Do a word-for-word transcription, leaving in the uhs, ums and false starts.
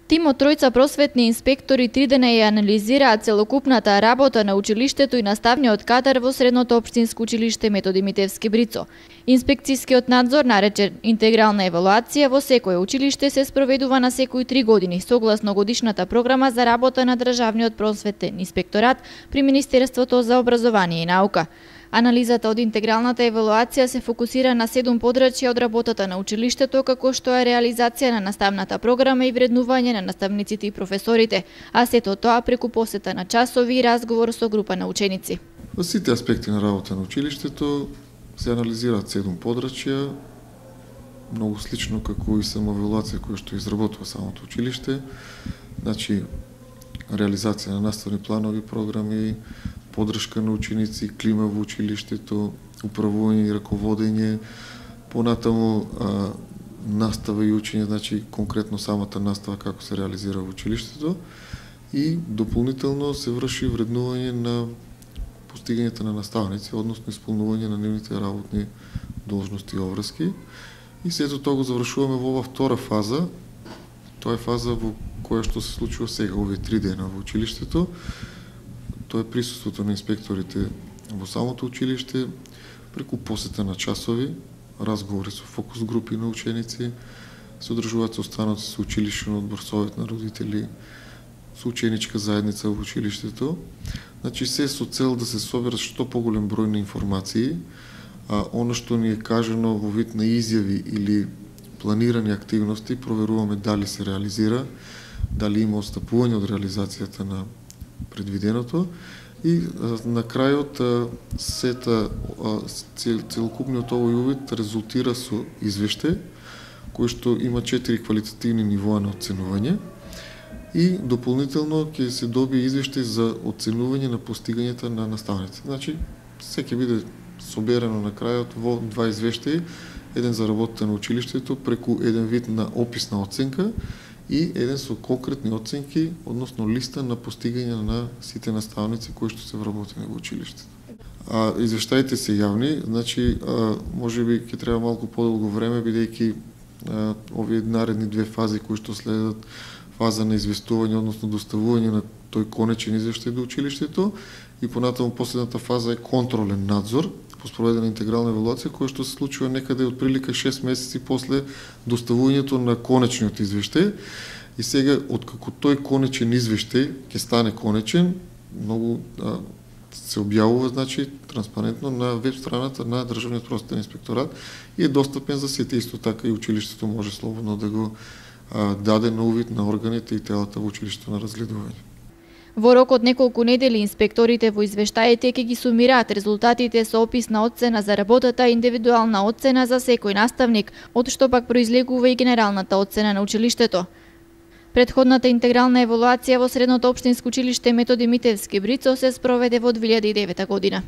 Тимот тројца просветни инспектори три дена ја анализираа целокупната работа на училиштето и наставниот кадар во Средното општинско училиште Методи Митевски Брицо. Инспекцијскиот надзор, наречен интегрална евалуација, во секое училиште се спроведува на секои три години, согласно годишната програма за работа на Државниот просветен инспекторат при Министерството за образование и наука. Анализата од интегралната евалуација се фокусира на седум подрачја од работата на училиштето, како што е реализација на наставната програма и вреднување на наставниците и професорите, а сето тоа преку посета на часови и разговор со група на ученици. Во сите аспекти на работа на училиштето се анализираат седум подрачја, многу слично како и самоевалуација која што изработува самото училиште, значи реализација на наставни планови, програми, поддршка на ученици, клима во училиштето, управување и раководење, понатаму а, настава и учење, значи конкретно самата настава како се реализира во училиштето и дополнително се врши вреднување на постигањето на наставници, односно исполнување на нивните работни должности и обврски. И сето тоа го завршуваме во ова втора фаза. Тоа е фаза во која што се случува сега, овие три дена во училиштето. Тоа е присуството на инспекторите во самото училиште, преку посета на часови, разговори со фокус групи на ученици, се одржуваат состаноци со училишен одбор, совет на родители, со ученичка заедница во училиштето. Значи се со цел да се соберат што поголем број на информации, а она што ни е кажано во вид на изјави или планирани активности, проверуваме дали се реализира, дали има отстапување од реализацијата на предвиденото и на крајот сета целокупниот овој увид резултира со извештај кој што има четири квалитативни нивоа на оценување и дополнително ќе се добие извештај за оценување на постигањата на наставниците. Значи, се ќе биде соберено на крајот во два извештаи, еден за работата на училиштето преку еден вид на описна оценка и еден со конкретни оценки, односно листа на постигање на сите наставници кои што се вработени во училиштето. А извештаите се јавни, значи можеби ќе треба малку подолго време бидејќи овие наредни две фази кои што следат, фаза на известување, односно доставување на тој конечен извештај до училиштето и понатаму последната фаза е контролен надзор по спроведена интегрална евалуација која што се случува некаде од прилика шест месеци после доставувањето на конечниот извештај. И сега откако тој конечен извештај ќе стане конечен, многу а, се објавува, значи транспарентно на веб страната на Државниот просветен инспекторат и е достапен за сите, исто така и училиштето може слободно да го а, даде на увид на органите и телата во училиштето на разгледување. Во рок од неколку недели инспекторите во извештаите ќе ги сумираат резултатите со описна оцена за работата и индивидуална оцена за секој наставник, од што пак произлегува и генералната оцена на училиштето. Претходната интегрална евалуација во Средното општинско училиште Методи Митевски Брицо се спроведе во две илјади и девета година.